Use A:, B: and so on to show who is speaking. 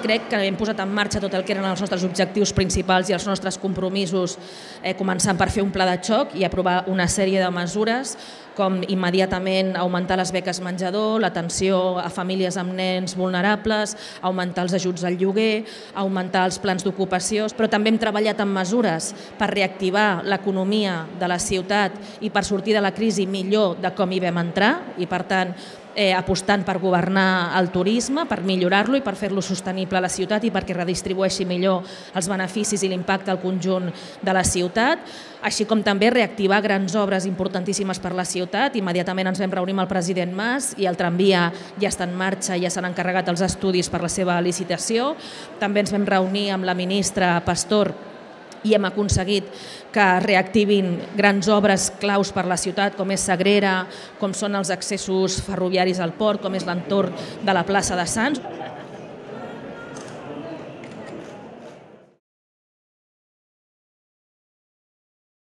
A: crec que hem posat en marxa tot el que eren els nostres objectius principals i els nostres compromisos, començant per fer un pla de xoc i aprovar una sèrie de mesures, com immediatament augmentar les beques menjador, l'atenció a famílies amb nens vulnerables, augmentar els ajuts al lloguer, augmentar els plans d'ocupació, però també hem treballat en mesures per reactivar l'economia de la ciutat i per sortir de la crisi millor de com hi vam entrar i, per tant, apostant per governar el turisme, per millorar-lo i per fer-lo sostenible a la ciutat i perquè redistribueixi millor els beneficis i l'impacte al conjunt de la ciutat, així com també reactivar grans obres importantíssimes per la ciutat. Immediatament ens vam reunir amb el president Mas i el tramvia ja està en marxa, ja s'han encarregat els estudis per la seva licitació. També ens vam reunir amb la ministra Pastor i hem aconseguit que reactivin grans obres claus per la ciutat, com és Sagrera, com són els accessos ferroviaris al port, com és l'entorn de la plaça de Sants.